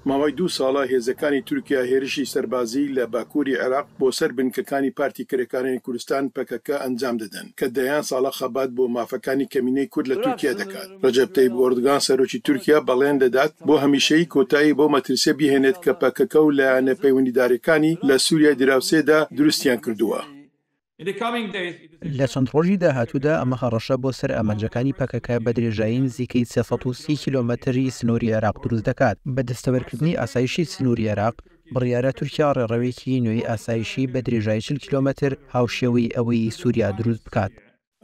ماوەی دوو ساڵە هێزەکانی تورکیا هێرشی سەربازی لە باکووری عێراق بۆ سەر بنکەکانی پارتی کرێکارانی کوردستان، پەکەکە، ئەنجام دەدەن، کە دەیان ساڵە خەبات بۆ مافەکانی کەمینەی کورد لە تورکیا دەکات. ڕەجەب تەیب ئۆردگان سەرۆکی تورکیا بەڵێن دەدات بۆ هەمیشەیی کۆتایی بەو مەترسیە بیهێنێت کە پەکەکە و لایەنە پەیوەندیدارەکانی لە سوریای دراوسێدا دروستیان کردووە. لە چەند ڕۆژی داهاتوودا ئەمە هەڕەشە بۆ سەر ئامانجەکانی پەکەکە بە درێژایی نزیکەی 330 کیلۆمەتری سنووری عێراق دروست دەکات. بە دەستەبەرکردنی ئاسایشی سنووری عێراق، بڕیارە تورکیا ڕێڕەوێکی نوێی ئاسایشی بە درێژایی 40 کیلۆمەتر هاوشێوەی ئەوەی سووریا دروست بکات.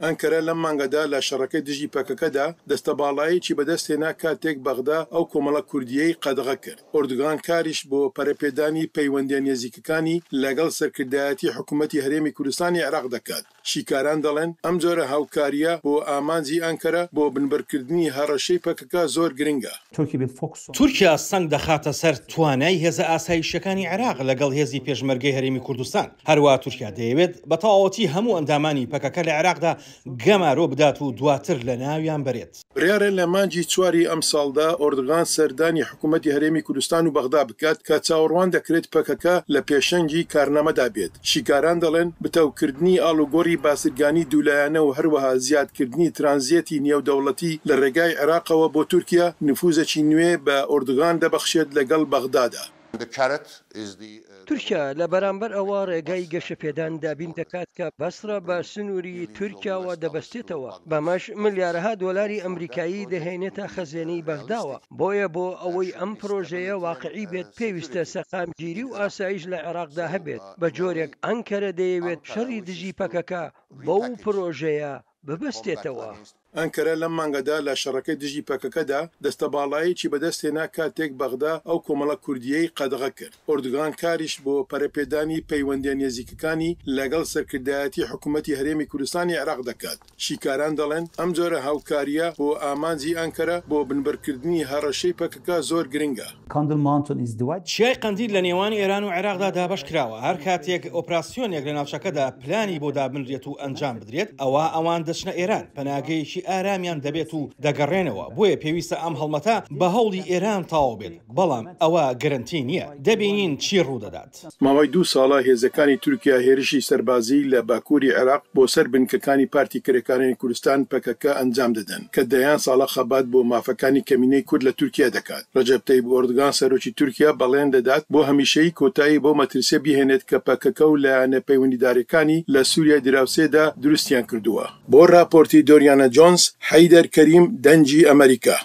ئەنکەرە لەم مانگەدا لە شەڕەکەی دژی پەکەکەدا دەستەباڵایەکی بەدەستهێنا کاتێک بەغدا ئەو کۆمەڵە کوردییەی قەدەغە کرد. ئۆردوگان کاریش بۆ پەرەپێدانی پەیوەندییە نێزیکەکانی لەگەڵ سەرکردایەتی حکومەتی هەرێمی کوردستانی عێراق دەکات. شیکاران دەڵێن ئەم جۆرە هاوکارییە بۆ ئامانجی ئەنکەرە بۆ بنبڕکردنی هەڕەشەی پەکەکە زۆر گرنگە. تورکیا سەنگ دەخاتە سەر توانای هێزە ئاسایشییەکانی عێراق لەگەڵ هێزی پێشمەرگەی هەرێمی کوردستان. هەروەها تورکیا دەیەوێت بە تەواوەتی هەموو ئەندامانی پەکەکە لە عێراقدا گەمارۆ بدات و دواتر لەناویان بەرێت. بڕیارە لە مانگی چواری ئەمساڵدا ئۆردغان سەردانی حکومەتی هەرێمی کوردستان و بەغدا بکات کە چاوەڕوان دەکرێت پەکەکە لە پێشەنگی کارنامەدا بێت. شیکاران دەڵێن بتەوکردنی ئاڵوگۆڕی بازرگانی دوولایەنە و هەروەها زیادکردنی ترانزێتی نێودەوڵەتی لە ڕێگای عێراقەوە بۆ تورکیا نفوزێکی نوێ بە ئۆردغان دەبەخشێت لەگەڵ بەغدادا. تورکیا لە بەرامبەر ئەوە ڕێگای گەشەپێدان دابین دەکات کە بەسرە بە سنووری تورکیاوە دەبەستێتەوە، بەمەش ملیارەها دۆلاری ئەمریکایی دەهێنێتە خەزێنەی بەغداوە، بۆیە بۆ ئەوەی ئەم پرۆژەیە واقعی بێت پێویستە سەقامگیری و ئاسایش لە عێراقدا هەبێت، بە جۆرێک ئەنکەرە دەیەوێت شەڕی دژی پەکەکە بەو پرۆژەیە ببەستێتەوە. ئەنکەرە لەم مانگەدا لە شەڕەکەی دژی پەکەکەدا دەستەباڵایەکی بەدەستهێنا کاتێک بەغدا ئەو کۆمەڵە کوردییەی قەدەغە کرد. ئۆردوگان کاریش بۆ پەرەپێدانی پەیوەندییە نێزیکەکانی لەگەڵ سەرکردایەتی حکومەتی هەرێمی کوردستانی عێراق دەکات. شیکاران دەڵێن ئەم جۆرە هاوکارییە بۆ ئامانجی ئەنکەرە بۆ بنبڕکردنی هەڕەشەی پەکەکە زۆر گرنگە. چیای قەندیل لە نێوان ئێران و عێراقدا دابەش کراوە، هەر کاتێک ئۆپراسیۆنێک لە ناوچەکەدا پلانی بۆ دابنرێت و ئەنجام بدرێت، ئەوا ئەوان دەچنە ئێران، پەناگەیەکی ئارامیان دەبێت و دەگەڕێنەوە، بۆیە پێویستە ئەم هەڵمەتە بە هەوڵی ئێران تەواو بێت، بەڵام ئەوە گرەنتی نییە، دەبینین چی ڕوودەدات. ماوەی دوو ساڵە هێزەکانی تورکیا هێرشی سەربازی لە باکووری عێراق بۆ سەر بنکەکانی پارتی کرێکارانی کوردستان، پەکەکە، ئەنجام دەدەن، کە دەیان ساڵە خەبات بۆ مافەکانی کەمینەی کورد لە تورکیا دەکات. ڕەجەب تەیب ئۆردگان سەرۆکی تورکیا بەڵێن دەدات بۆ هەمیشەیی کۆتایی بەو مەترسیە بیهێنێت کە پەکەکە و لایەنە پەیوەندیدارەکانی لە سوریای دراوسێدا دروستیان کردووە. بۆ ڕاپۆرتی دۆریانا جۆنس، حەیدەر کەریم، دەنگی ئەمەریکا.